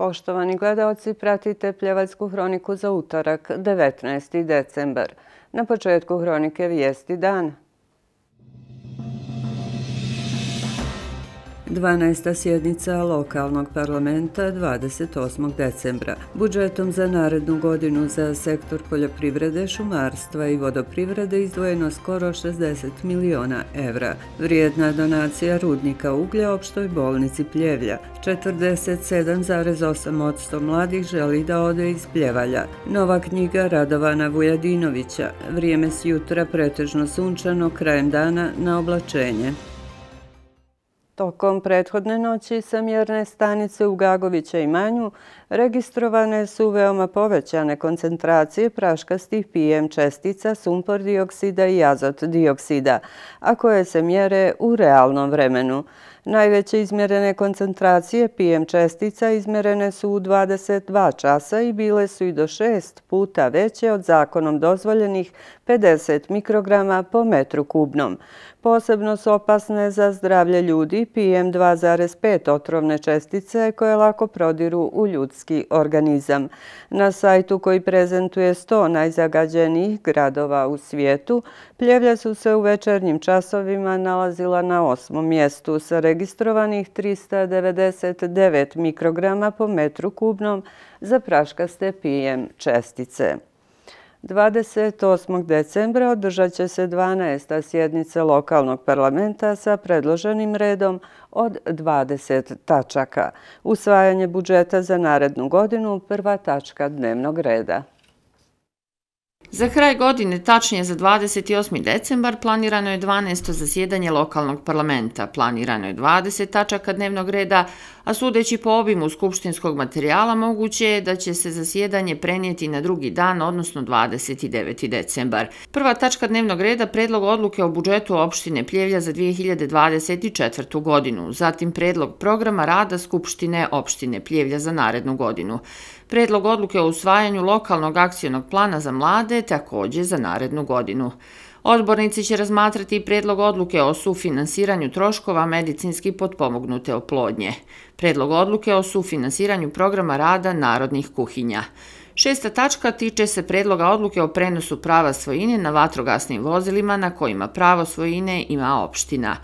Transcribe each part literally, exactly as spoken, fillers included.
Poštovani gledaoci, pratite Pljevaljsku hroniku za utorak, devetnaesti decembar. Na početku hronike vijesti dana. dvanaesta sjednica lokalnog parlamenta dvadeset osmog decembra. Budžetom za narednu godinu za sektor poljoprivrede, šumarstva i vodoprivrede izdvojeno skoro šezdeset miliona evra. Vrijedna donacija rudnika uglja opštoj bolnici Pljevlja. četrdeset sedam zarez osam posto mladih želi da ode iz Pljevalja. Nova knjiga Radovana Vujadinovića. Vrijeme s jutra pretežno sunčano, krajem dana na oblačenje. Tokom prethodne noći sa mjerne stanice u Gagovića imanju registrovane su veoma povećane koncentracije praškastih P M čestica, sumpor dioksida i azot dioksida, a koje se mjere u realnom vremenu. Najveće izmjerene koncentracije P M čestica izmjerene su u dvadeset dva časa i bile su i do šest puta veće od zakonom dozvoljenih pedeset mikrograma po metru kubnom. Posebno su opasne za zdravlje ljudi P M dva zarez pet otrovne čestice koje lako prodiru u ljudski organizam. Na sajtu koji prezentuje sto najzagađenijih gradova u svijetu, Pljevlja su se u večernjim časovima nalazila na osmom mjestu sa registrovanih trista devedeset devet mikrograma po metru kubnom za praškaste P M čestice. dvadeset osmog decembra održat će se dvanaesta sjednica lokalnog parlamenta sa predloženim redom od dvadeset tačaka. Usvajanje budžeta za narednu godinu prva tačka dnevnog reda. Za kraj godine, tačnije za dvadeset osmi decembar, planirano je dvanaesto zasjedanje lokalnog parlamenta. Planirano je dvadeset tačaka dnevnog reda, a sudeći po obimu skupštinskog materijala moguće je da će se zasjedanje prenijeti na drugi dan, odnosno dvadeset deveti decembar. Prva tačka dnevnog reda predlog odluke o budžetu opštine Pljevlja za dvije hiljade dvadeset četvrtu godinu, zatim predlog programa rada Skupštine opštine Pljevlja za narednu godinu. Predlog odluke o usvajanju lokalnog akcionog plana za mlade također za narednu godinu. Odbornici će razmatrati i predlog odluke o sufinansiranju troškova medicinski potpomognute oplodnje. Predlog odluke o sufinansiranju programa rada narodnih kuhinja. Šesta tačka tiče se predloga odluke o prenosu prava svojine na vatrogasnim vozilima na kojima pravo svojine ima opština.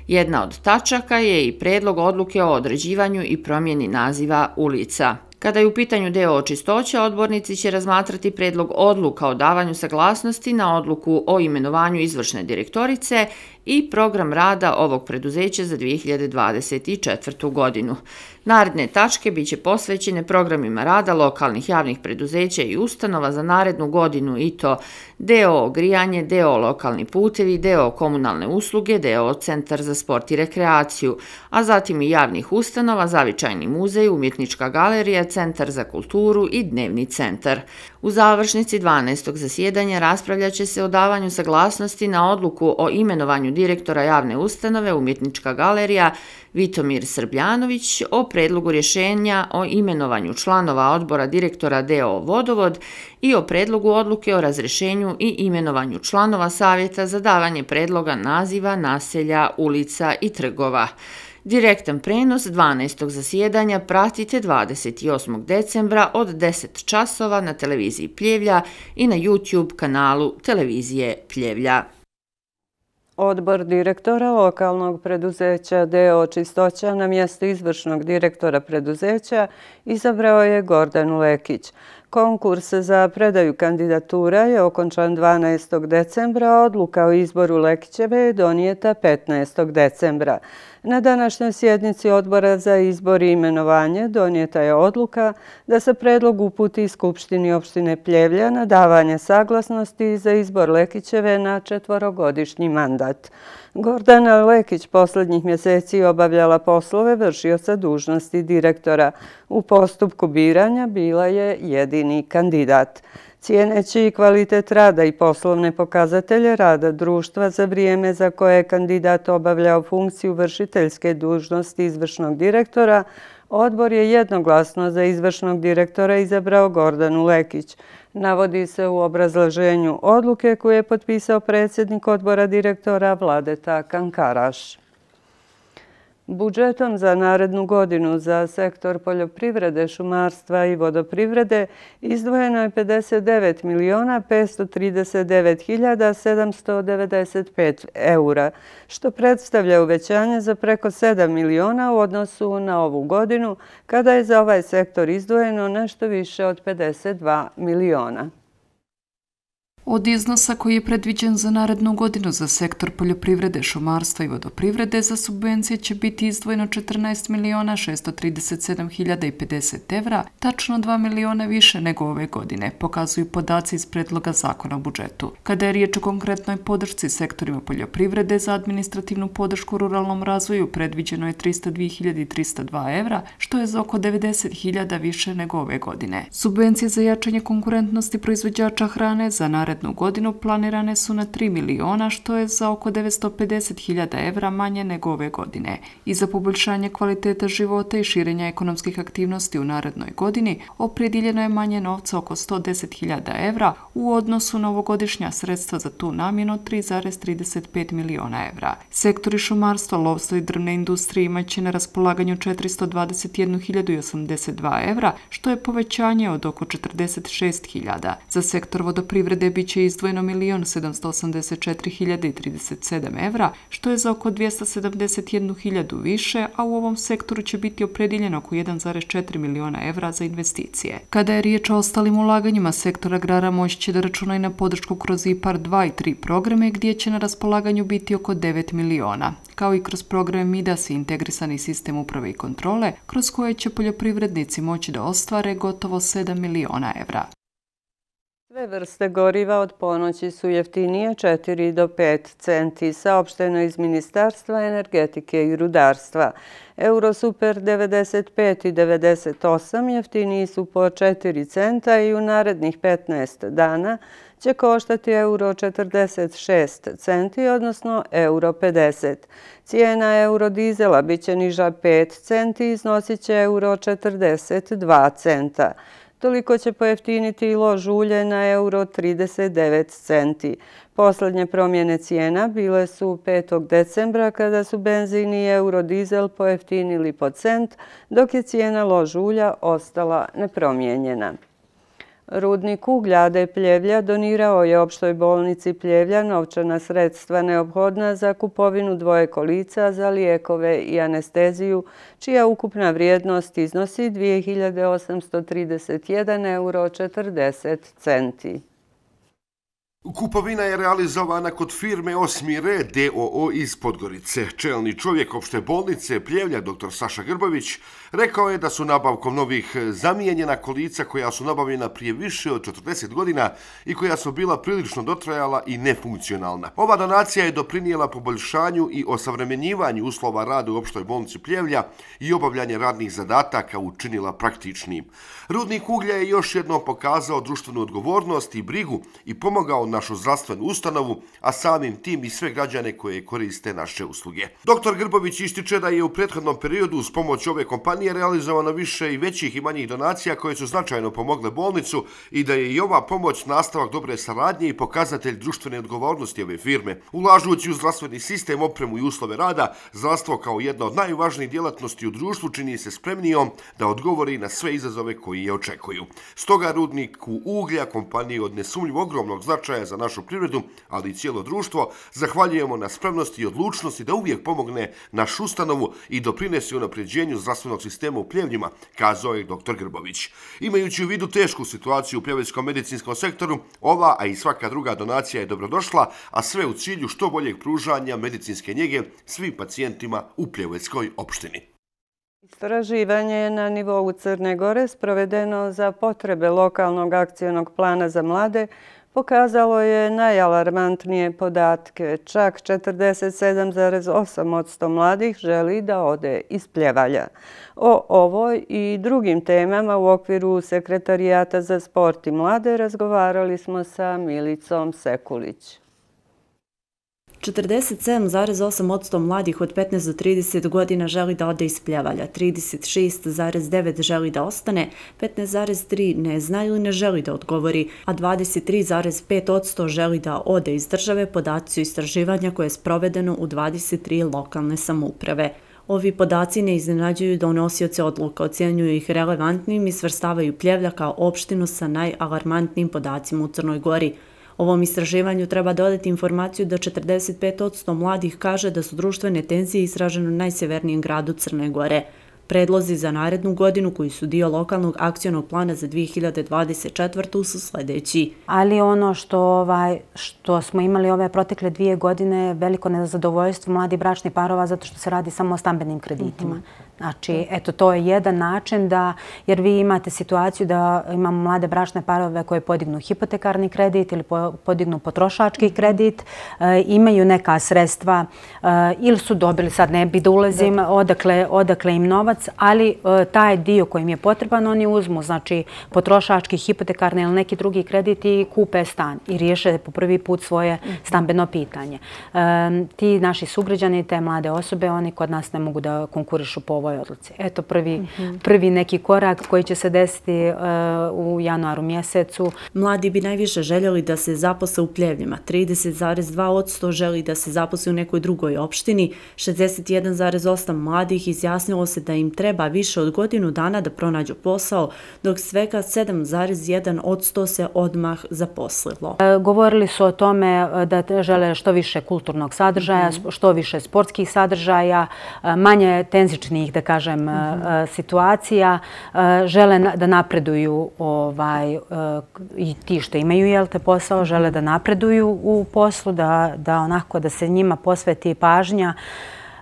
Jedna od tačaka je i predlog odluke o određivanju i promjeni naziva ulica. Kada je u pitanju deo čistoća, odbornici će razmatrati predlog odluka o davanju saglasnosti na odluku o imenovanju izvršne direktorice i program rada ovog preduzeća za dvije hiljade dvadeset četvrtu godinu. Naredne tačke biće posvećene programima rada lokalnih javnih preduzeća i ustanova za narednu godinu i to deo grijanje, deo lokalni putevi, deo komunalne usluge, deo centar za sport i rekreaciju, a zatim i javnih ustanova, zavičajni muzej, umjetnička galerija, centar za kulturu i dnevni centar. U završnici dvanaestog zasjedanja raspravljat će se o davanju saglasnosti na odluku o imenovanju direktora javne ustanove Umjetnička galerija Vitomir Srbljanović, o predlogu rješenja o imenovanju članova odbora direktora D O Vodovod i o predlogu odluke o razrješenju i imenovanju članova savjeta za davanje predloga naziva naselja, ulica i trgova. Direktan prenos dvanaestog zasjedanja pratite dvadeset osmog decembra od deset časova na televiziji Pljevlja i na YouTube kanalu televizije Pljevlja. Odbor direktora lokalnog preduzeća D O Čistoća na mjesto izvršnog direktora preduzeća izabrao je Gordanu Lekić. Konkurs za predaju kandidatura je okončan dvanaestog decembra, a odluka o izboru Lekićeve je donijeta petnaestog decembra. Na današnjoj sjednici odbora za izbor i imenovanje donijeta je odluka da se predlog uputi Skupštini opštine Pljevlja na davanje saglasnosti za izbor Lekićeve na četvorogodišnji mandat. Gordana Lekić posljednjih mjeseci obavljala poslove vršioca dužnosti direktora. U postupku biranja bila je jedini kandidat. Cijeneći kvalitet rada i poslovne pokazatelje rada društva za vrijeme za koje je kandidat obavljao funkciju vršiteljske dužnosti izvršnog direktora, odbor je jednoglasno za izvršnog direktora izabrao Gordanu Lekić. Navodi se u obrazloženju odluke koju je potpisao predsjednik odbora direktora Vladeta Kankaraš. Budžetom za narednu godinu za sektor poljoprivrede, šumarstva i vodoprivrede izdvojeno je pedeset devet miliona petsto trideset devet hiljada sedamsto devedeset pet eura, što predstavlja uvećanje za preko sedam miliona u odnosu na ovu godinu, kada je za ovaj sektor izdvojeno nešto više od pedeset dva miliona. Od iznosa koji je predviđen za narednu godinu za sektor poljoprivrede, šumarstva i vodoprivrede za subvencije će biti izdvojeno četrnaest miliona šesto trideset sedam hiljada pedeset evra, tačno dva miliona više nego ove godine, pokazuju podaci iz predloga zakona o budžetu. Kada je riječ o konkretnoj podršci sektorima poljoprivrede za administrativnu podršku ruralnom razvoju, predviđeno je tristo dvije hiljade trista dva evra, što je za oko devedeset hiljada više nego ove godine. Subvencije za jačanje konkurentnosti proizvođača hrane za narednu godinu planirane su na tri miliona, što je za oko devetsto pedeset hiljada evra manje nego ove godine. I za poboljšanje kvaliteta života i širenja ekonomskih aktivnosti u narednoj godini opredijeljeno je manje novca, oko sto deset hiljada evra, u odnosu na ovogodišnja sredstva za tu namjenu tri zarez trideset pet miliona evra. Sektori šumarstva, lovstva i drvne industrije imaće na raspolaganju četiristo dvadeset jednu hiljadu osamdeset dva evra, što je povećanje od oko četrdeset šest hiljada. Za sektor vodoprivrede biće izdvojeno milion sedamsto osamdeset četiri hiljade trideset sedam evra, što je za oko dvjesto sedamdeset jednu hiljadu više, a u ovom sektoru će biti opredijeljeno oko jedan zarez četiri miliona evra za investicije. Kada je riječ o ostalim ulaganjima, sektor agrara moći će da računa i na podršku kroz I P A R dva i tri programe, gdje će na raspolaganju biti oko devet miliona, kao i kroz program MIDAS i integrisani sistem uprave i kontrole, kroz koje će poljoprivrednici moći da ostvare gotovo sedam miliona evra. Sve vrste goriva od ponoći su jeftinije četiri do pet centi, saopšteno iz Ministarstva energetike i rudarstva. Eurosuper devedeset pet i devedeset osam jeftiniji su po četiri centa i u narednih petnaest dana će koštati euro četrdeset šest centi, odnosno euro pedeset. Cijena eurodizela bit će niža pet centi i iznosit će euro četrdeset dva centa. Toliko će pojeftiniti i lož ulje na euro trideset devet centi. Poslednje promjene cijena bile su petog decembra kada su benzin i eurodizel pojeftinili po cent, dok je cijena lož ulja ostala nepromijenjena. Rudnik uglja A D Pljevlja donirao je opštoj bolnici Pljevlja novčana sredstva neophodna za kupovinu dvoje kolica za lijekove i anesteziju, čija ukupna vrijednost iznosi dvije hiljade osamsto trideset jedan euro četrdeset centi. Kupovina je realizovana kod firme Osmi red D O O iz Podgorice. Čelni čovjek opšte bolnice Pljevlja, dr Saša Grbović, rekao je da su nabavkom novih zamijenjena kolica koja su nabavljena prije više od četrdeset godina i koja su bila prilično dotrajala i nefunkcionalna. Ova donacija je doprinijela poboljšanju i osavremenjivanju uslova rada u opštoj bolnici Pljevlja i obavljanje radnih zadataka učinila praktičnim. Rudnik uglja je još jednom pokazao društvenu odgovornost i brigu i pomogao našu zdravstvenu ustanovu, a samim tim i sve građane koje koriste naše usluge. doktor Grbović ističe da je u prethodnom periodu uz pomoć ove kompanije realizovano više i većih i manjih donacija koje su značajno pomogle bolnicu i da je i ova pomoć nastavak dobre saradnje i pokazatelj društvene odgovornosti ove firme. Ulažujući u zdravstveni sistem, opremu i uslove rada, zdravstvo kao jedna od najvažnijih djelatnosti u društvu čini se spremnijom da odgovori na sve izazove koji je očekuju. Stoga rudniku uglja, kompaniji od nesumnjivo ogromnog značaja za našu privredu, ali i cijelo društvo, zahvaljujemo na spremnosti i odlučnosti da uvijek pomogne našu ustanovu i doprinesi unapređenju zdravstvenog sistema u Pljevljima, kazao je doktor Grbović. Imajući u vidu tešku situaciju u pljevljskom medicinskom sektoru, ova, a i svaka druga donacija je dobrodošla, a sve u cilju što boljeg pružanja medicinske njege svim pacijentima u pljevljskoj opštini. Istraživanje je na nivou Crne Gore sprovedeno za potrebe lokalnog akcionog plana za mlade, pokazalo je najalarmantnije podatke. Čak četrdeset sedam zarez osam posto mladih želi da ode iz Pljevalja. O ovoj i drugim temama u okviru Sekretarijata za sport i mlade razgovarali smo sa Milicom Sekulić. četrdeset sedam zarez osam posto mladih od petnaest do trideset godina želi da ode iz Pljevalja, trideset šest zarez devet želi da ostane, petnaest zarez tri ne zna ili ne želi da odgovori, a dvadeset tri zarez pet posto želi da ode iz države, podaci su istraživanja koje je sprovedeno u dvadeset tri lokalne samouprave. Ovi podaci ne iznenađuju donosioce odluka, ocjenjuju ih relevantnim i svrstavaju Pljevlja kao opštinu sa najalarmantnijim podacima u Crnoj Gori. Ovom istraživanju treba dodati informaciju da četrdeset pet posto mladih kaže da su društvene tenzije izražene u najsjevernijem gradu Crne Gore. Predlozi za narednu godinu koji su dio lokalnog akcionog plana za dvije hiljade dvadeset četvrtu. su sljedeći. Ali ono što, ovaj, što smo imali ove protekle dvije godine je veliko nezadovoljstvo mladih bračnih parova zato što se radi samo o stambenim kreditima. Mm-hmm. Znači, eto, to je jedan način da, jer vi imate situaciju da imamo mlade bračne parove koje podignu hipotekarni kredit ili podignu potrošački kredit, e, imaju neka sredstva e, ili su dobili, sad ne bi da ulazim, odakle, odakle im novac, ali e, taj dio koji im je potreban oni uzmu, znači potrošački, hipotekarni ili neki drugi kredit i kupe stan i riješe po prvi put svoje stambeno pitanje. E, ti naši sugrađani, te mlade osobe, oni kod nas ne mogu da konkurišu po ovoj odluci. Eto prvi, mm-hmm. prvi neki korak koji će se desiti uh, u januaru mjesecu. Mladi bi najviše željeli da se zaposle u Pljevljima. trideset zarez dva posto želi da se zaposle u nekoj drugoj opštini. šezdeset jedan zarez osam mladih izjasnilo se da im treba više od godinu dana da pronađu posao, dok svega sedam zarez jedan posto se odmah zaposlilo. Uh, govorili su o tome da žele što više kulturnog sadržaja, mm-hmm. što više sportskih sadržaja, uh, manje tenzičnih, da kažem, mm-hmm. situacija, žele da napreduju ovaj, i ti što imaju jel te posao, žele da napreduju u poslu, da, da onako da se njima posveti pažnja,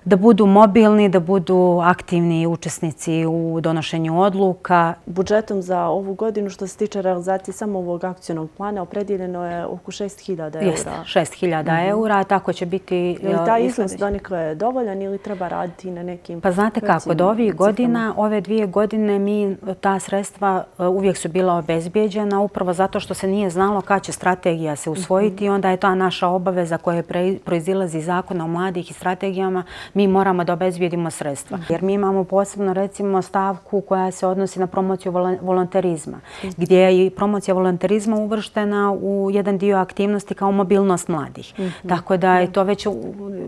da budu mobilni, da budu aktivni učesnici u donošenju odluka. Budžetom za ovu godinu što se tiče realizacije samo ovog akcionog plana opredijeljeno je oko šest hiljada eura. Jeste, šest hiljada mm-hmm. eura, tako će biti... Je li taj iznos donekle dovoljan ili treba raditi na nekim... Pa znate kako, do ovih godina, ove dvije godine mi ta sredstva uvijek su bila obezbijeđena upravo zato što se nije znalo kada će strategija se usvojiti i onda je to naša obaveza koja proizilazi iz zakona o mladih i strategijama. Mi moramo da obezbijedimo sredstva. Jer mi imamo posebno recimo stavku koja se odnosi na promociju volonterizma, gdje je i promocija volonterizma uvrštena u jedan dio aktivnosti kao mobilnost mladih. Mm-hmm. Tako da je to već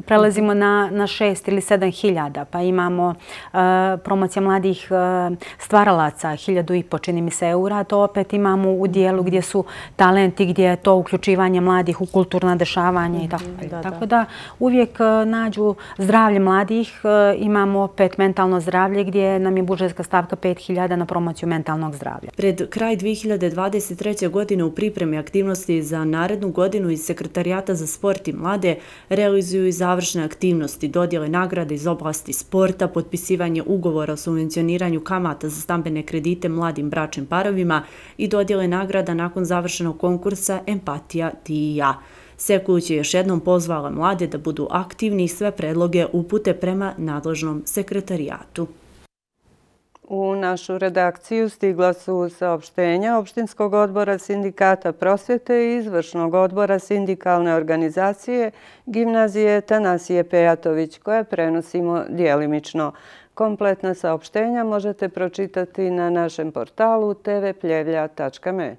prelazimo na, na šest ili sedam hiljada. Pa imamo uh, promocija mladih uh, stvaralaca, hiljadu i po čini mi se eura. To opet imamo u dijelu gdje su talenti, gdje je to uključivanje mladih u kulturna dešavanja i tako. Mm-hmm. Da, tako da uvijek uh, nađu zdravlje mladih, imamo opet mentalno zdravlje gdje nam je budžetska stavka pet hiljada na promociju mentalnog zdravlja. Pred kraj dvije hiljade dvadeset treće. godine u pripremi aktivnosti za narednu godinu iz Sekretarijata za sport i mlade realizuju i završne aktivnosti, dodjele nagrade iz oblasti sporta, potpisivanje ugovora o subvencioniranju kamata za stambene kredite mladim bračnim parovima i dodjele nagrada nakon završenog konkursa Empatija ti i ja. Sekuć je još jednom pozvala mlade da budu aktivni i sve predloge upute prema nadležnom sekretarijatu. U našu redakciju stigla su saopštenja Opštinskog odbora Sindikata prosvjete i Izvršnog odbora Sindikalne organizacije Gimnazije Tanasije Pejatović, koje prenosimo djelimično. Kompletna saopštenja možete pročitati na našem portalu te ve pljevlja tačka me.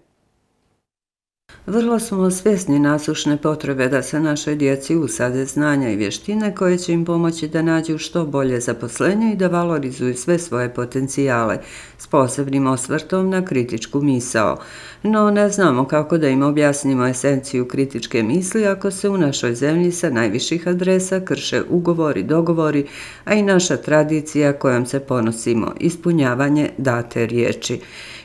Vrlo smo svjesni nasušne potrebe da se našoj djeci usade znanja i vještine koje će im pomoći da nađu što bolje zaposlenje i da valorizuju sve svoje potencijale, s posebnim osvrtom na kritičku misao. No ne znamo kako da im objasnimo esenciju kritičke misli ako se u našoj zemlji sa najviših adresa krše ugovori, dogovori, a i naša tradicija kojom se ponosimo, ispunjavanje date riječi.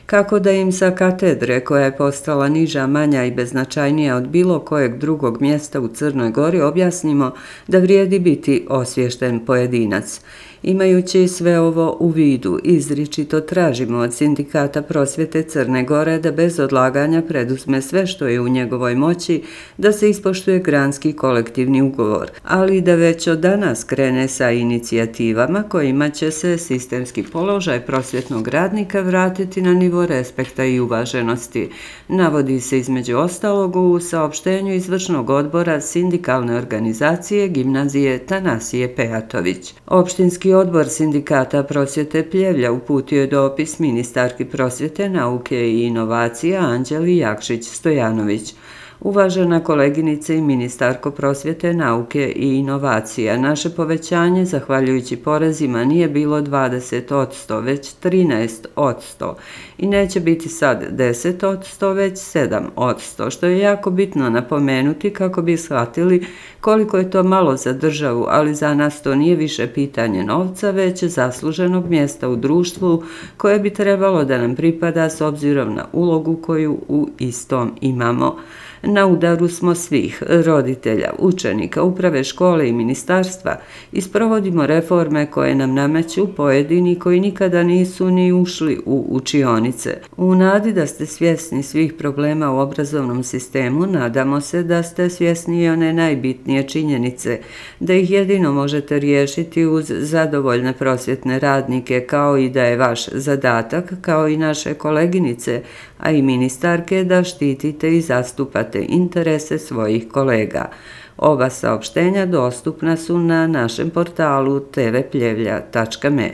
Kako da im sa katedre, koja je postala niža, manja i beznačajnija od bilo kojeg drugog mjesta u Crnoj Gori, objasnimo da vrijedi biti osviješten pojedinac. Imajući sve ovo u vidu, izričito tražimo od Sindikata prosvjete Crne Gore da bez odlaganja preduzme sve što je u njegovoj moći da se ispoštuje granski kolektivni ugovor, ali da već od danas krene sa inicijativama kojima će se sistemski položaj prosvjetnog radnika vratiti na nivo respekta i uvaženosti. Navodi se između ostalog u saopštenju Izvršnog odbora Sindikalne organizacije Gimnazije Tanasije Pejatović. Opštinski odbor Sindikata prosvjete Pljevlja uputio je dopis ministarki prosvjete, nauke i inovacija Anđeli Jakšić Stojanović. Uvažena koleginice i ministarko prosvjete, nauke i inovacija, naše povećanje, zahvaljujući porezima, nije bilo dvadeset odsto, već trinaest odsto i neće biti sad deset odsto, već sedam odsto, što je jako bitno napomenuti kako bi shvatili koliko je to malo za državu, ali za nas to nije više pitanje novca, već zasluženog mjesta u društvu koje bi trebalo da nam pripada s obzirom na ulogu koju u istom imamo. Na udaru smo svih, roditelja, učenika, uprave škole i ministarstva i sprovodimo reforme koje nam nameću pojedini koji nikada nisu ni ušli u učionice. U nadi da ste svjesni svih problema u obrazovnom sistemu, nadamo se da ste svjesni i one najbitnije činjenice, da ih jedino možete riješiti uz zadovoljne prosvjetne radnike, kao i da je vaš zadatak, kao i naše koleginice, a i ministarke, da štitite i zastupate interese svojih kolega. Ova saopštenja dostupna su na našem portalu te ve pljevlja tačka me.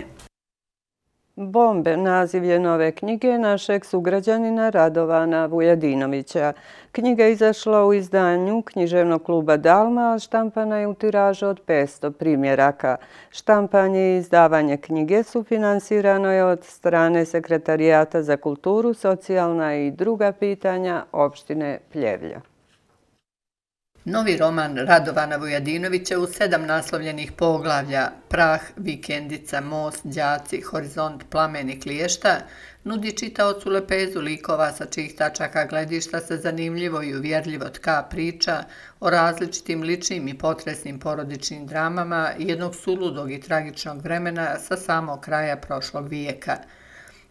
Bombe, naziv je nove knjige našeg sugrađanina Radovana Vujadinovića. Knjiga je izašla u izdanju književnog kluba Dalma, a štampana je u tiražu od petsto primjeraka. Štampanje i izdavanje knjige sufinansirano je od strane Sekretarijata za kulturu, socijalna i druga pitanja opštine Pljevlja. Novi roman Radovana Vujadinovića u sedam naslovljenih poglavlja Prah, Vikendica, Most, Đaci, Horizont, Plamen i Kliješta nudi čitaocu lepezu likova sa čijih tačaka gledišta se zanimljivo i uvjerljivo tka priča o različitim ličnim i potresnim porodičnim dramama jednog suludog i tragičnog vremena sa samog kraja prošlog vijeka.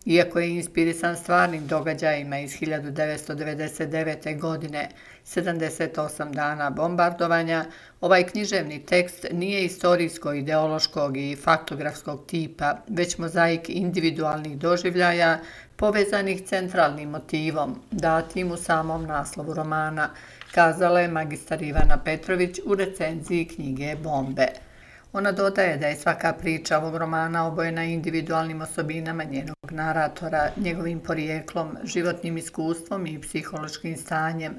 Iako je inspirisan stvarnim događajima iz hiljadu devetsto devedeset devete. godine, sedamdeset osam dana bombardovanja, ovaj književni tekst nije istorijsko-ideološkog i faktografskog tipa, već mozaik individualnih doživljaja povezanih centralnim motivom, datim u samom naslovu romana, kazala je magistar Ivana Petrović u recenziji knjige Bombe. Ona dodaje da je svaka priča ovog romana obojena individualnim osobinama njenog naratora, njegovim porijeklom, životnim iskustvom i psihološkim stanjem,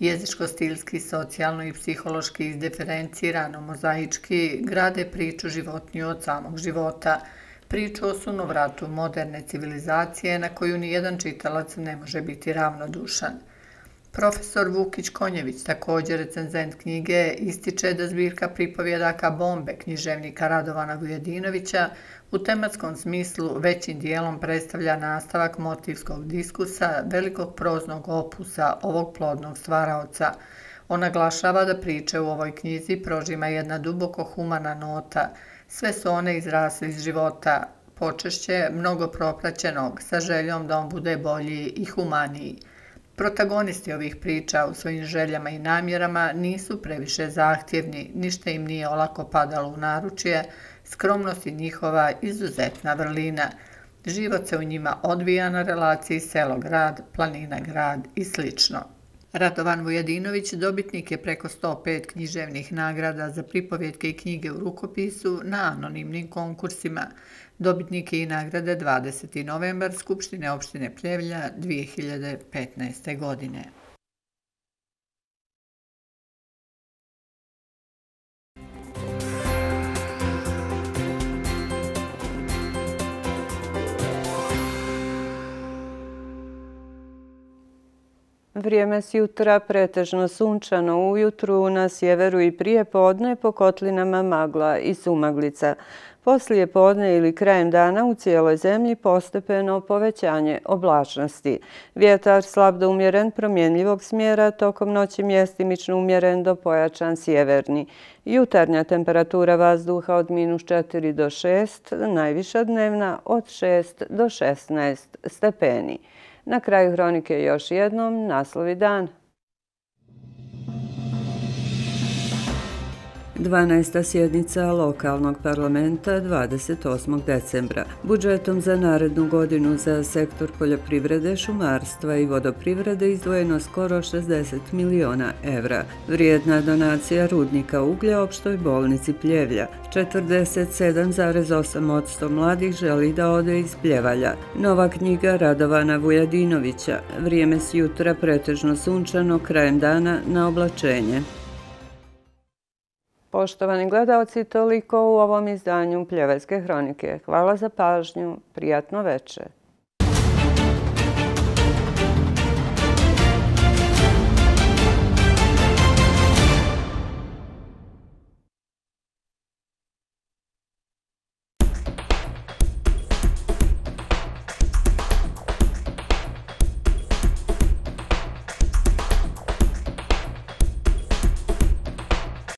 jezičko-stilski, socijalno i psihološki izdiferencirano, mozaički, grade priču životniju od samog života, priču o sunovratu moderne civilizacije na koju nijedan čitalac ne može biti ravnodušan. Profesor Vukić Konjević, također recenzent knjige, ističe da zbirka pripovjedaka Bombe književnika Radovana Vujadinovića u tematskom smislu većim dijelom predstavlja nastavak motivskog diskusa velikog proznog opusa ovog plodnog stvaraoca. On naglašava da priče u ovoj knjizi prožima jedna duboko humana nota. Sve su one izrasle iz života, počešće mnogo propraćenog, sa željom da on bude bolji i humaniji. Protagonisti ovih priča u svojim željama i namjerama nisu previše zahtjevni, ništa im nije olako padalo u naručje, skromnost je njihova izuzetna vrlina. Život se u njima odvija na relaciji selo-grad, planina-grad i slično. Radovan Vujadinović dobitnik je preko sto pet književnih nagrada za pripovjetke i knjige u rukopisu na anonimnim konkursima. Dobitnik je i nagrade dvadeseti novembar Skupštine opštine Pljevlja dvije hiljade petnaeste. godine. Vrijeme s jutra pretežno sunčano, ujutru na sjeveru i prije podne po kotlinama magla i sumaglica. Poslije podne ili krajem dana u cijeloj zemlji postepeno povećanje oblačnosti. Vjetar slab do umjeren promjenljivog smjera, tokom noći mjestimično umjeren do pojačan sjeverni. Jutarnja temperatura vazduha od minus četiri do šest, najviša dnevna od šest do šesnaest stepeni. Na kraju hronike još jednom naslovi dana. dvanaesta sjednica lokalnog parlamenta dvadeset osmog decembra. Budžetom za narednu godinu za sektor poljoprivrede, šumarstva i vodoprivrede izdvojeno skoro šezdeset miliona evra. Vrijedna donacija rudnika uglja opštoj bolnici Pljevlja. četrdeset sedam zarez osam posto mladih želi da ode iz Pljevalja. Nova knjiga Radovana Vujadinovića. Vrijeme s jutra pretežno sunčano, krajem dana na oblačenje. Poštovani gledalci, toliko u ovom izdanju Pljevaljske hronike. Hvala za pažnju, prijatno večer.